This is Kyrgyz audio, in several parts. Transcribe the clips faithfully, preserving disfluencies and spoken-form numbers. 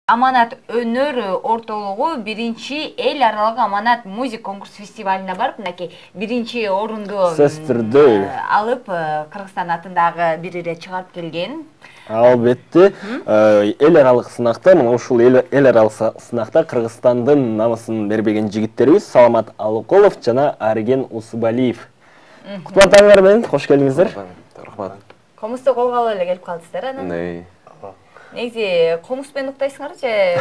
Аманат өнөр ортолугу биринчи эл аралык Аманат музык конкурс фестивалына барып, мынакей биринчи орунду алып, Кыргызстан атындагы бир ирет чыгарып келген. Албетте, эл аралык сынакта, мына ушул эл аралык сынакта Кыргызстандын намысын бербеген жигиттерибиз Саламат Алыкулов жана Арген Усубалиев. Кутлуктарыңар менен, кош келиңиздер. Рахмат. Комузду колго алып эле келип калдыңыздар анан. Негизи комуз менен уктайсыңар же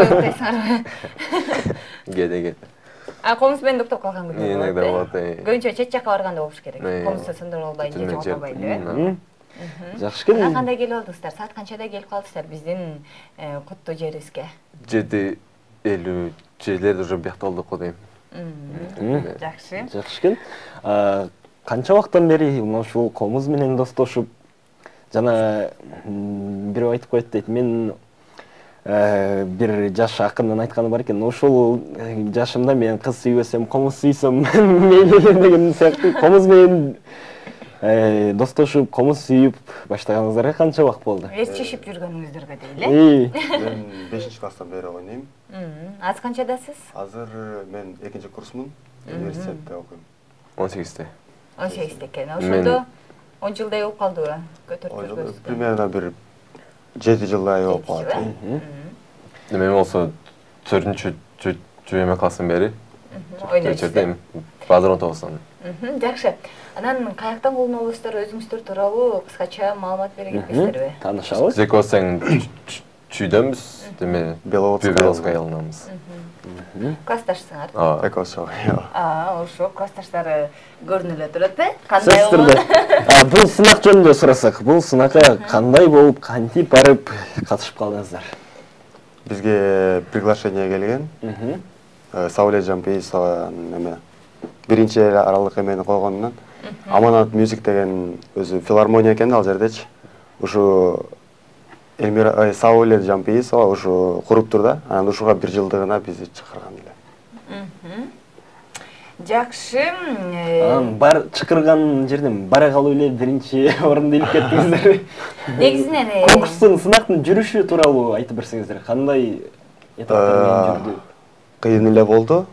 уктайсыңар? Кеде-кеде. А комуз менен уктап калган күндөр болот. Иногда болот. Көбүнчө чет жакка барганда болуш керек. Комузду сындырып албайын же жоготпойбайын деп. Жакшы келиң. Кандай келип алдыңыздар? Саат канчада келип калдыңыздар биздин куттуу жерибизге? жети элүү жерлерде уже биякта болдук го дейм. Жакшы. Жакшы экен. Канча убакыттан бери ушул комуз менен достошуп жана бирөө айтып коет дейт. Мен бир жаш акындын айтканы бар экен. Ушул жашымда мен кыз сүйбөсөм, комуз сүйсөм мейли деген сыяктуу комуз менен достошуп, комуз сүйүп баштаганыңыздарга канча убакыт болду? Ээрчишип жүргөнүңүздөргө дейли. Мен бешинчи класстан бери ойнойм. Азыр канчадасыз? Азыр мен экинчи курсмун, университетте окуйм. он сегизде. он сегизде экен. Ошондо он жылдай болуп калдыбы? Көтөрүп жүргөнүз? Примерно бир жети жылдай болуп калат. Мен болсо төртүнчү жүйөмө класстан бери ойнойсуздар. Базар он тогуздан. Жакшы. Анан каяктан колдон аласыздар, өзүңүздөр тууралуу кыскача маалымат бере кетесиздерби? Таанышабыз. Зекосең чүйдөнбүз, деме Беловодская айылынанбыз. Классташсыңар? Ооба. Экосо. Аа, ошо классташтары көрүнүп эле турат э? Кандай болду? Бул сынак жөнүндө сурасак, бул сынакка кандай болуп, кантип барып катышып калдыңыздар? Бизге приглашение келген. Саулет Жампейисова неме биринчи эл аралык эмени койгонунан Аманат мюзик деген өзү филармония экен ал жердечи. Ушу Эльмира Саулет Жампейисова ушу куруптур да. Анан ушуга бир жылдыгына бизди чакырган эле. Жакшы. Анан бар чакырган жерден бара калып эле биринчи орунду илип кеттиңиздер. Негизинен конкурстун сынактын жүрүшү тууралуу айтып берсеңиздер, кандай этаптар менен жүрдү? Кыйын эле болду.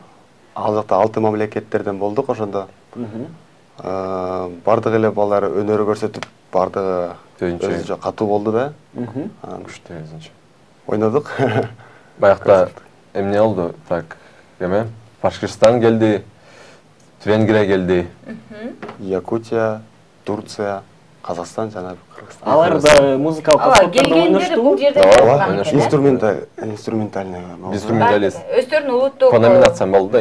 Ал жакта алты мамлекеттерден болдук ошондо. Бардык эле балдар өнөр көрсөтүп, бардыгы өзүнчө катуу болду да. Күчтүү өзүнчө. Ойнодук. Баягыда эмне болду? Так, эме Башкырстан келди, Венгрия келди, Якутия, Турция, Казакстан жана Кыргызстан. Алар да музыкалык аспаптарда ойношту. Бул жерде ойношту. Инструменталь, инструментальный. Инструменталист. Өздөрүнүн улуттук по номинациям болду да.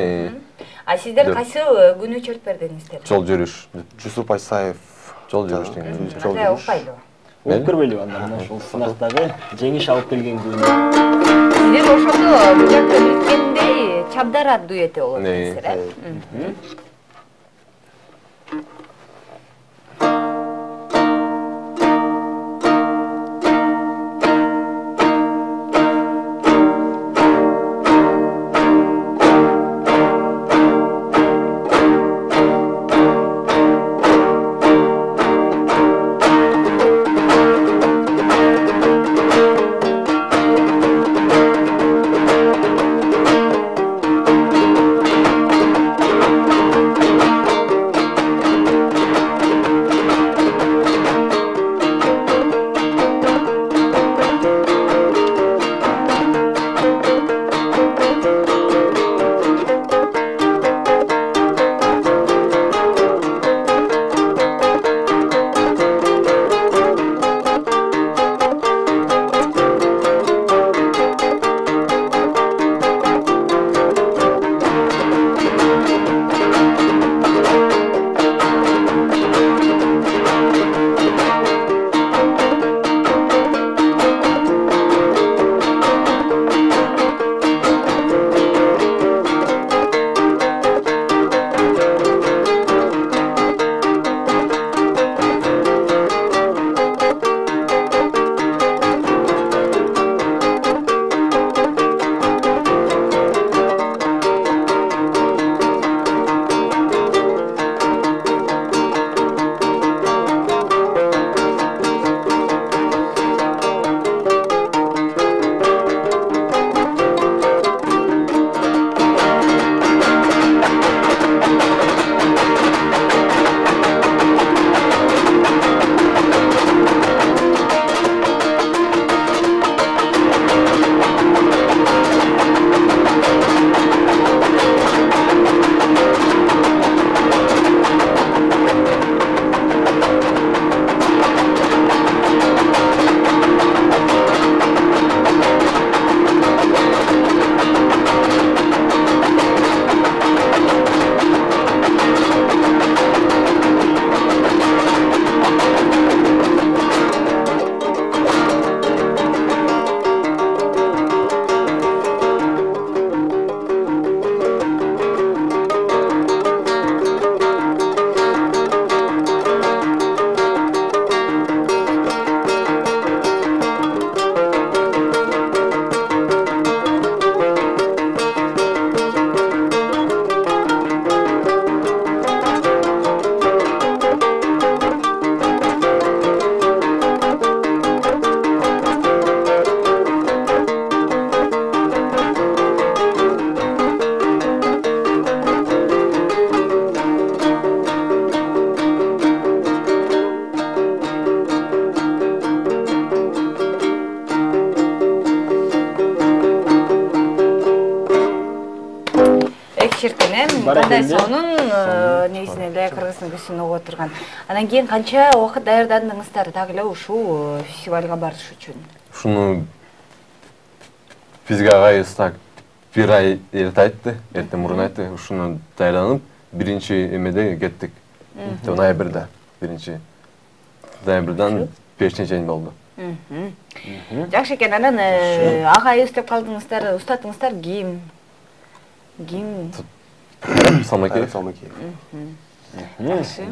А сиздер кайсы күнү чөп бердиңиздер? Жол жүрүш. Жусуп Айсаев. Жол жүрүш деген. Жол жүрүш. Болуп көрбөйлүбү анда мына ушул сынактагы жеңиш алып келген күнү? Сиздер ошондо бул жакта билгендей Чабдара дуэти болот дейсиздер, э? экен. Кандай сонун негизинен эле кыргыздын көзүн угуп отурган. Анан кийин канча убакыт даярдандыңыздар дагы эле ушул фестивалга барыш үчүн? Ушуну бизге агайыбыз так бир ай эрте айтты, эрте мурун айтты. Ушуну даярданып, биринчи эмеде кеттик. Ноябрда, биринчи ноябрдан бешинчи чейин болду. Жакшы экен. Анан агайыбыз деп калдыңыздар, устатыңыздар ким? Ким? Салмакеев. Салмакеев.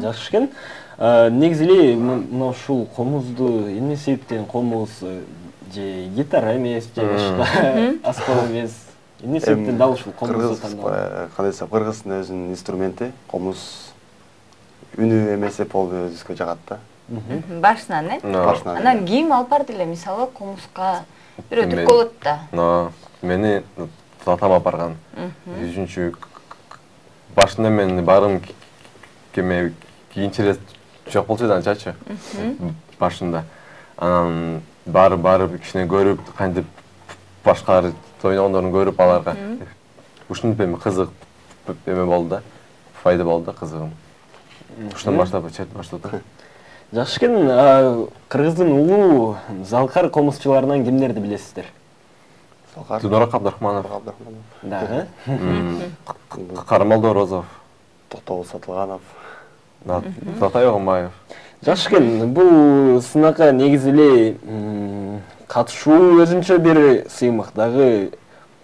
Жакшы экен. Негизи эле мына ушул комузду эмне себептен комуз же гитара эмес, же башка аспап эмес? Эмне себептен дал ушул комузду тандадыңыз? Кандай десем, кыргыздын өзүнүн инструменти, комуз үнү эмес деп болду өзүбүзгө жагат да. Башынан, э? Башынан. Анан ким алып барды эле, мисалы, комузга бирөө түрк болот да. Мени татам алып барган. Үчүнчү башында мен барым кеме кийинчерээк жок болчу да анчачы. Башында. Анан барып барып кичине көрүп, кантип башкалар ойногондорун көрүп аларга ушинтип эми кызык эме болду да. Файда болду да, кызыгым. Ушундан баштап чет баштадым. Жакшы экен. Кыргыздын улуу залкар комузчуларынан кимдерди билесиздер? Залкар. Дунорак Абдрахманов. Дагы? Кармал Дорозов. Токтогул Сатылганов. Затай Огунбаев. Жакшы экен. Бул сынакка негизи эле катышуу өзүнчө бир сыймык, дагы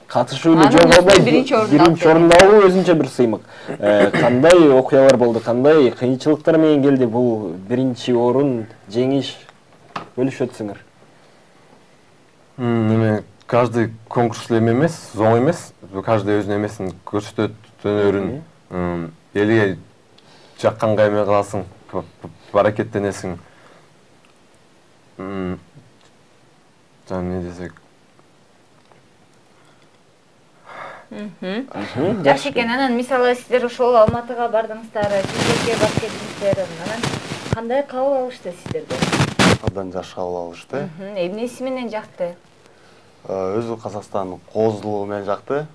катышуу эле жок албай биринчи орунду алуу өзүнчө бир сыймык. Кандай окуялар болду, кандай кыйынчылыктар менен келди бул биринчи орун жеңиш? Бөлүшүп өтсөңөр. Эме каждый конкурс эме эмес, зоң эмес. Каждый өзүнүн эмесин көрсөтөт, өнөрүн. Элге жакканга эме кыласың, аракеттенесиң. Жана эмне десек? Жакшы экен. Анан мисалы сиздер ошол Алматыга бардыңыздар, Чечерге барып келдиңиздер. Анан кандай кабыл алышты сиздерди? Абдан жакшы кабыл алышты. Эмнеси менен жакты? Өзү Казакстандын коозлугу менен жакты.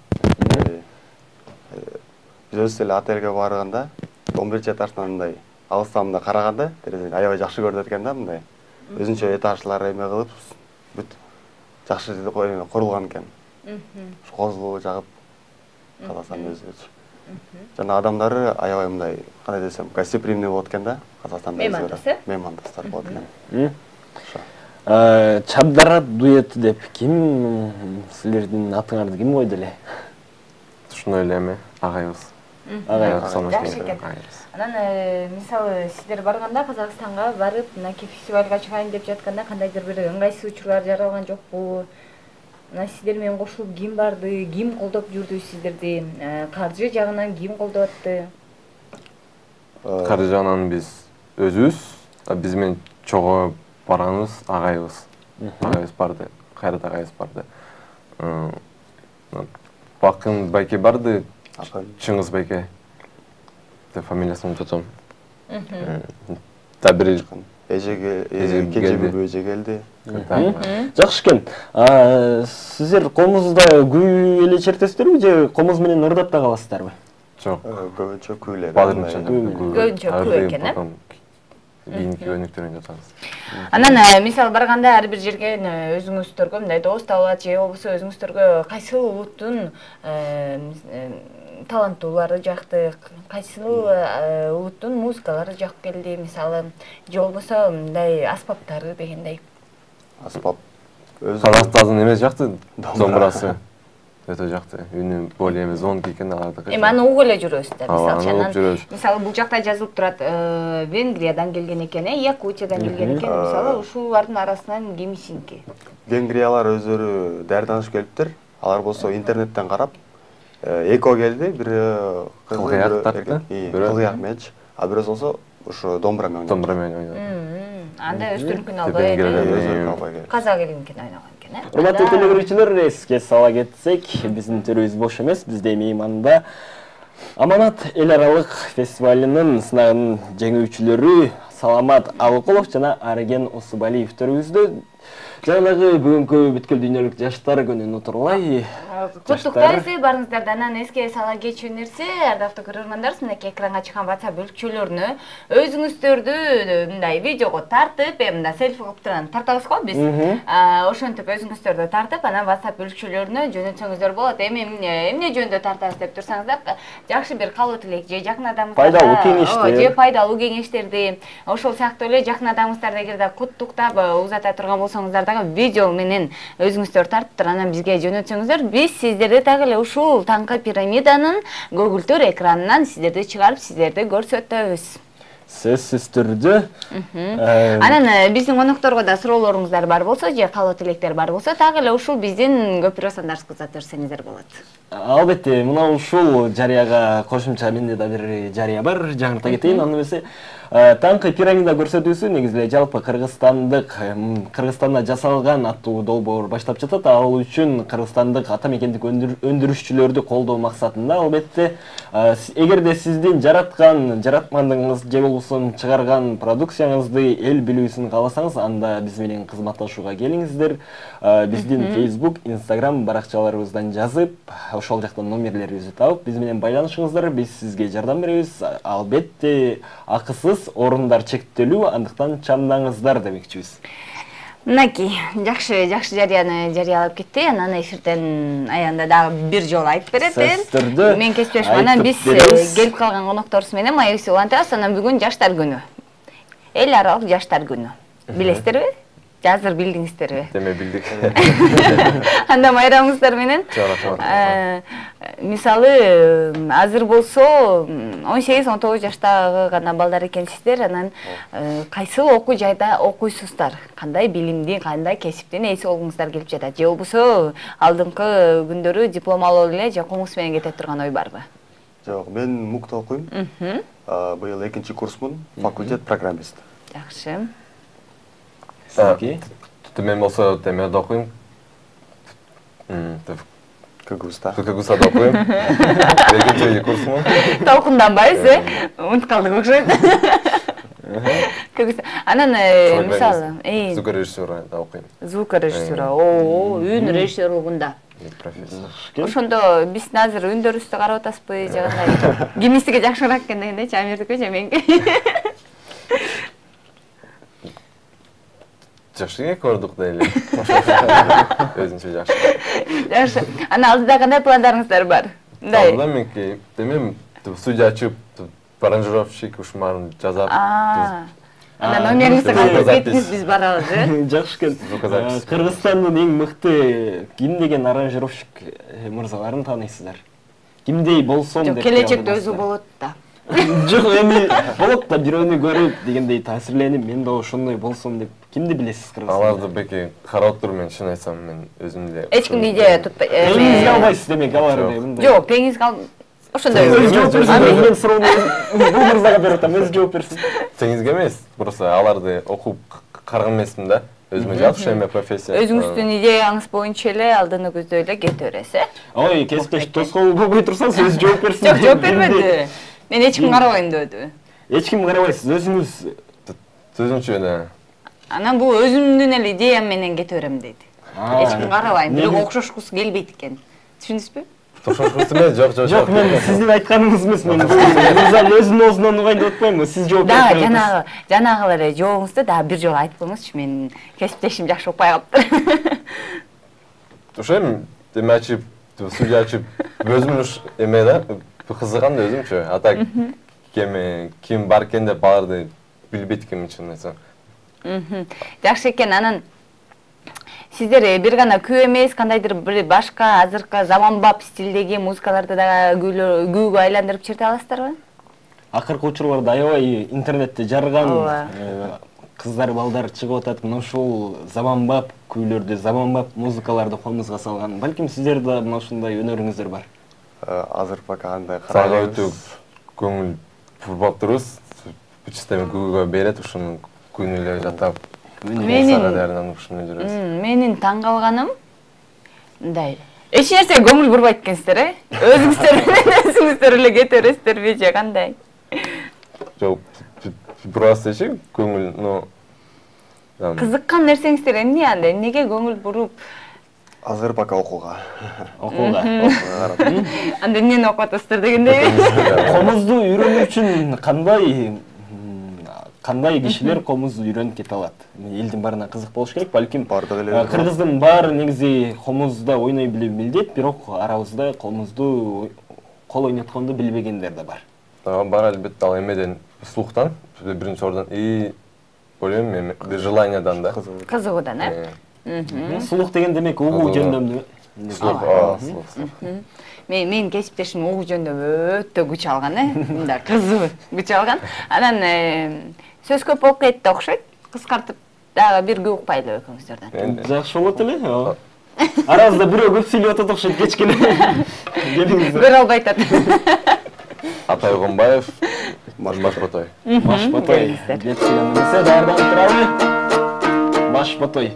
Биз өзүбүз эле отелге барганда он биринчи этаждан мындай алыстан мындай караганда терезеден аябай жакшы көрүнөт экен да, мындай. Өзүнчө этажлар эме кылып, бүт жакшы курулган экен. Коозлугу жагып Казакстан өзүбүз. Жана адамдары аябай мындай, кандай десем, гостеприимный болот экен да, Казакстанда өзү. Меймандостор болот экен. Чабдара дуэти деп ким силердин атыңарды ким койду эле? Ушуну эле эме агайыбыз. Агайыбыз. Жакшы экен. Анан мисалы сиздер барганда Казакстанга барып, мынакей фестивалга чыгайын деп жатканда кандайдыр бир ыңгайсыз учурлар жаралган жокпу? Мына сиздер менен кошулуп ким барды, ким колдоп жүрдү сиздерди? Каржы жагынан ким колдоп атты? Каржы жагынан биз өзүбүз, биз менен чогуу барганыбыз агайыбыз. Агайыбыз барды, Кайрат агайыбыз барды. Бакын байке барды, Чыңгыз байке. Деп фамилиясын унутатам. Да бир эже келди, эже келди. Жакшы экен. Сиздер комузда күй эле чертесиздерби же комуз менен ырдап да каласыздарбы? Жок. Көбүнчө күй эле. Көбүнчө күй экен, э? Кийинки өнүктөрүн жатабыз. Анан мисалы барганда ар бир жерге өзүңүздөргө мындай дос табылат же болбосо өзүңүздөргө кайсыл улуттун таланттуулары жакты, кайсыл улуттун музыкалары жакып келди, мисалы же болбосо мындай аспаптары дегендей. Аспап өзү Казакстандын эмес жакты, домбурасы. Өтө жакты. Үнү более эме звонкий экен алардыкы. Эми аны угуп эле жүрөсүз да, мисалы. Мисалы бул жакта жазылып турат, Венгриядан келген экен, э, Якутиядан келген экен. Мисалы ушулардын арасынан кимисинки? Венгриялар өздөрү даярданышып келиптир. Алар болсо интернеттен карап, эко келди, бир кылгыяк тартты, кылгыяк меч, а бирөөсү болсо ушу домбура менен. Домбура менен ойнойт. Анда өздөрүнкүн албай эле казак элинкин ойногон экен, э? Урматтуу телегөрүүчүлөр, эске сала кетсек, биздин төрүбүз бош эмес. Бизде мейманда Аманат эл аралык фестивалынын сынагынын жеңүүчүлөрү Саламат Алыкулов жана Арген Усубалиев төрүбүздө. Жанагы бүгүнкү бүткүл дүйнөлүк жаштар күнүн утурлай. Куттуктайбыз, барыңыздарда анан эске сала кетчү нерсе, ардактуу көрөрмандар, мынакей экранга чыккан WhatsApp бөлүкчөлөрүнө өзүңүздөрдү мындай видеого тартып, мындай селфи кылып турган тартабыз го биз. Ошентип өзүңүздөрдү тартып, анан WhatsApp бөлүкчөлөрүнө жөнөтсөңүздөр болот. Эми эмне жөнүндө тартабыз деп турсаңыздар, жакшы бир каалоо тилек же жакын адамыңыздарга пайдалуу кеңештер, же пайдалуу кеңештерди, ошол сыяктуу эле жакын адамыңыздарды эгерде куттуктап узата турган болсоңуздар дагы видео менен өзүңүздөр тартып туруп анан бизге жөнөтсөңүздөр, биз сиздерди так эле ушул таңкы пирамиданын көгүлтүр экранынан сиздерди чыгарып, сиздерди көрсөтөбүз. Сөзсүз түрдө. Анан биздин конокторго да суроолоруңуздар бар болсо же каалоо тилектер бар болсо, так эле ушул биздин көпүрө сандарыбызга узатып берсеңиздер болот. Албетте, мына ушул жарыяга кошумча менде да бир жарыя бар, жаңырта кетейин. Аны эмесе таңкы пирамида көрсөтүүсү негизи эле жалпы кыргызстандык Кыргызстанда жасалган аттуу долбоор баштап жатат. Ал үчүн кыргызстандык ата мекендик өндүрүшчүлөрдү колдоо максатында, албетте, эгерде сиздин жараткан жаратмандыгыңыз же болбосо чыгарган продукцияңызды эл билүүсүн кааласаңыз, анда биз менен кызматташууга келиңиздер. Биздин Facebook, Instagram баракчаларыбыздан жазып, ошол жактан номерлерибизди табып, биз менен байланышыңыздар, биз сизге жардам беребиз. Албетте, акысыз, орундар чектелүү, андыктан чамдаңыздар демекчибиз. Мынакей, жакшы, жакшы жарыяны жарыялап кетти. Анан эфирден аягында дагы бир жолу айтып берет. Мен кесиптешим. Анан биз келип калган конокторубуз менен маекти улантабыз. Анан бүгүн жаштар күнү. Эл аралык жаштар күнү. Билесиздерби? Азыр билдиңиздерби? Деме билдик. Анда майрамыңыздар менен. Мисалы, азыр болсо он сегиз он тогуз жаштагы гана балдар экенсиздер, анан кайсыл окуу жайда окуйсуздар? Кандай билимди, кандай кесиптин ээси болгуңуздар келип жатат? Же болбосо алдыңкы күндөрү диплом алып эле же комуз менен кете турган ой барбы? Жок, мен МУКта окуйм. Быйыл экинчи курсмун, факультет программист. Жакшы. Мен болсо Темерде окуйм. КГУста. КГУста окуйм. Экинчи курсмун. Толкунданбайбыз, э? Унутуп калдык окшойт. КГУста. Анан мисалы, звукорежиссура окуйм. Звукорежиссура. Оо, үн режиссерлугунда. Профессор. Ошондо биздин азыр үндөрүбүздү карап атасызбы, же кандай? Кимисиге жакшыраак экен дегендейчи, Амирдики же меники? Жакшы көрдүк дейли. Өзүнчө жакшы. Жакшы. Анан алдыда кандай пландарыңыздар бар? Мындай. Алдыда менки, демем, студия ачып, аранжировщик ушмарын жасап. Анан номериңизди калтырып кетиңиз, биз барабыз, э? Жакшы экен. Кыргызстандын эң мыкты ким деген аранжировщик мырзаларын тааныйсыздар? Кимдей болсом деп. Жок, келечекте өзү болот да. Жок, эми болот да, бирөөнү көрүп дегендей таасирленип, мен да ошондой болсом деп. Кимди билесиз Кыргызстанда? Аларды беки карап туруп, мен чын айтсам, мен өзүм эле. Эч кимди идея тутпай. Теңизге албайсыз демек аларды мындай. Жок, теңизге ал. Ошондой. Өз жооп берсиң, мен суроону бул мырзага берип атам, өз жооп берсин. Теңизге эмес, просто аларды окуп караган эмесмин да. Өзүмө жакшы эме профессия. Өзүңүздүн идеяңыз боюнча эле алдыны көздөй эле кете бересиз, э? Ой, кесиптеш тоскоол болбой турсаңыз, өз жооп берсин. Жок, жооп бермеди. Мен эч ким карабайм дебеди. Эч ким карабайсыз, өзүңүз өзүнчө эле. Анан бул өзүмдүн эле идеям менен кете берем дейт. Эч ким карабайм, бирок окшошкусу келбейт экен. Түшүндүңүзбү? Окшошкусу эмес, жок, жок, жок. Мен сиздин айтканыңыз эмес, мен мырзанын өзүнүн оозунан угайын деп атпаймынбы? Сиз жооп бериңиз. Да, жанагы, жанагы эле жообуңузду дагы бир жолу айтып коюңузчу, мен кесиптешим жакшы укпай калыптыр. Ошо эми эме ачып, студия ачып, өзүмүн эме да, кызыгам да өзүмчө. Ата кем ким бар экен деп аларды билбейт экенмин, чын айтсам. Жакшы экен. Анан сиздер бир гана күү эмес, кандайдыр бир башка азыркы заманбап стилдеги музыкаларды да күүгө айландырып чырта аласыздарбы? Акыркы учурларда аябай интернетте жарган кыздар, балдар чыгып атат. Мына ушул заманбап күүлөрдү, заманбап музыкаларды колуңузга салган. Балким сиздер да мына ушундай өнөрүңүздөр бар. Азыр пока андай карабайбыз. Сага өтө көңүл бурбап турубуз. Система күүгө берет, ушуну күнү эле жатап. Менин таң калганым мындай. Эч нерсе көңүл бурбайт экенсиздер, э? Өзүңүздөр менен өзүңүздөр эле кете бересиздерби же кандай? Жок, просто эчи көңүл, но Кызыккан нерсеңиздер эмне анда? Эмнеге көңүл буруп? Азыр пока окууга. Окууга. Анда эмнени окуп атасыздар дегендей. Комузду үйрөнүү үчүн кандай кандай кишилер комузду үйрөнүп кете алат? Элдин баарына кызык болуш керек, балким бардык эле. Кыргыздын баары негизи комузда ойной билип билдет, бирок арабызда комузду кол ойнотконду билбегендер да бар. Бар албетте, ал эмеден слухтан, биринчи ордон и ойлойм эми желаниядан да. Кызыгуудан, э? Слух деген демек угуу жөндөмдү. Слух, слух. Мен менин кесиптешим угуу жөндөмү өтө күч алган, э? Мындай кызуу күч алган. Анан сөз көп болуп кетти окшойт. Кыскартып дагы бирге укпайлы экөөңүздөрдөн. Жакшы болот эле. Арабызда бирөө көп сүйлөп атат окшойт кечкене. Көрө албай атат. Атай Огонбаев, Башботой. Башботой. Деп сүйлөмөсө даярданып туралы. Башботой.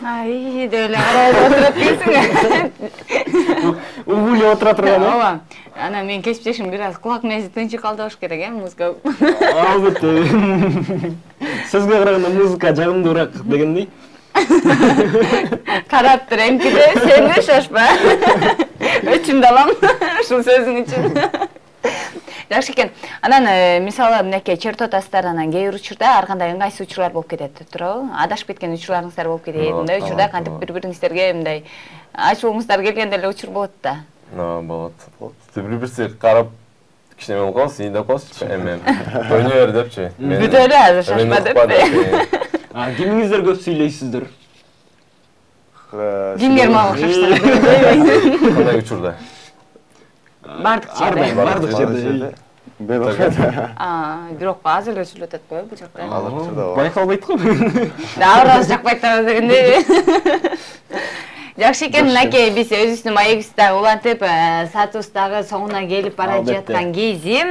Ай, деле карап отуруп кетсиң. Угулеп отура турган. Ооба. Анан мен кесиптешим бир аз кулак мези тынчык калды болуш керек, э, музыка. Албетте. Сөзгө караганда музыка жагымдуураак дегендей. Карап тур, эмкиде сен да шашпа. Өчүмдү алам ушул сөзүң үчүн. Жакшы экен. Анан мисалы мынакей чертотасыздар, анан кээ бир учурда ар кандай ыңгайсыз учурлар болуп кетет, туурабы? Адашып кеткен учурларыңыздар болуп кетет. Мындай учурда кантип бири-бириңиздерге мындай ачууңуздар келгенде эле учур болот да. Ооба, болот. Бири-бирибизге карап кичине болуп калабыз, ийиндеп калабыз. Эми ойной бер депчи. Бүтө эле азыр шашпа деп. А кимиңиздер көп сүйлөйсүздөр? Кимдер мага окшоштор? Кандай учурда? Бардык жерде. Бардык жерде. Мен окшойт. А, бирок азыр эле сүйлөп атат го бул жакта. Азыр учурда. Байкалбайт го. Дагы жакпайт дегенде. Жакшы экен, мынакей биз өзүбүздүн маегибизди дагы улантып, саатыбыз дагы соңуна келип бара жаткан кези.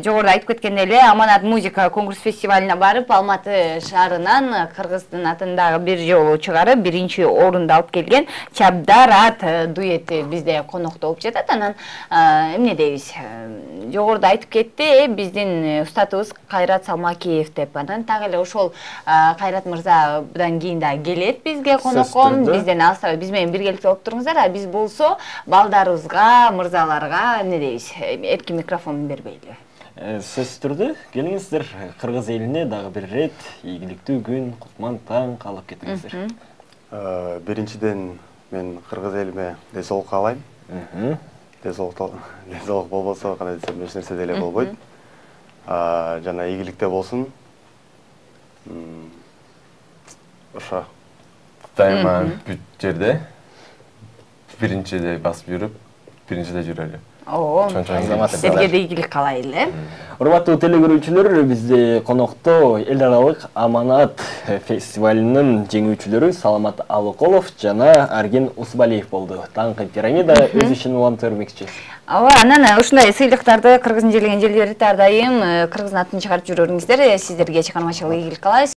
Жогоруда айтып кеткендей эле, Аманат музыка конкурс фестивалына барып, Алматы шаарынан Кыргыздын атындагы бир жолу чыгарып, биринчи орунду алып келген Чабдарат дуэти бизде конокто болуп жатат. Анан эмне дейбиз? Жогоруда айтып кетти, биздин устатыбыз Кайрат Салмакиев деп. Анан так эле ошол Кайрат мырза будан кийин да келет бизге конокко. Бизден алсабай, биз менен биргеликте болуп туруңуздар, а биз болсо балдарыбызга, мырзаларга эмне дейбиз? Эркин микрофон бербейли. Сөзсүз түрдө келиңиздер, кыргыз элине дагы бир ирет ийгиликтүү күн, кутман таң каалап кетиңиздер. Биринчиден мен кыргыз элиме десолук каалайм. Десолук болбосо кандай десем эч нерсе деле болбойт. Жана ийгиликте болсун. Ошо. Дайыма бүт жерде биринчиде басып жүрүп, биринчиде жүрөлү. Оо, сизге да ийгилик каалайлы. Урматтуу телекөрүүчүлөр, бизде конокто эл аралык Аманат фестивалынын жеңүүчүлөрү Саламат Алыколов жана Арген Усбалиев болду. Таңкы пирамида өз ишин улантып бермекчи. Ооба, анан ушундай сыйлыктарды Кыргыздын желеген желдерди ар дайым Кыргыздын атын чыгарып жүрөрүңүздөр. Сиздерге чыгармачылык ийгилик каалайбыз.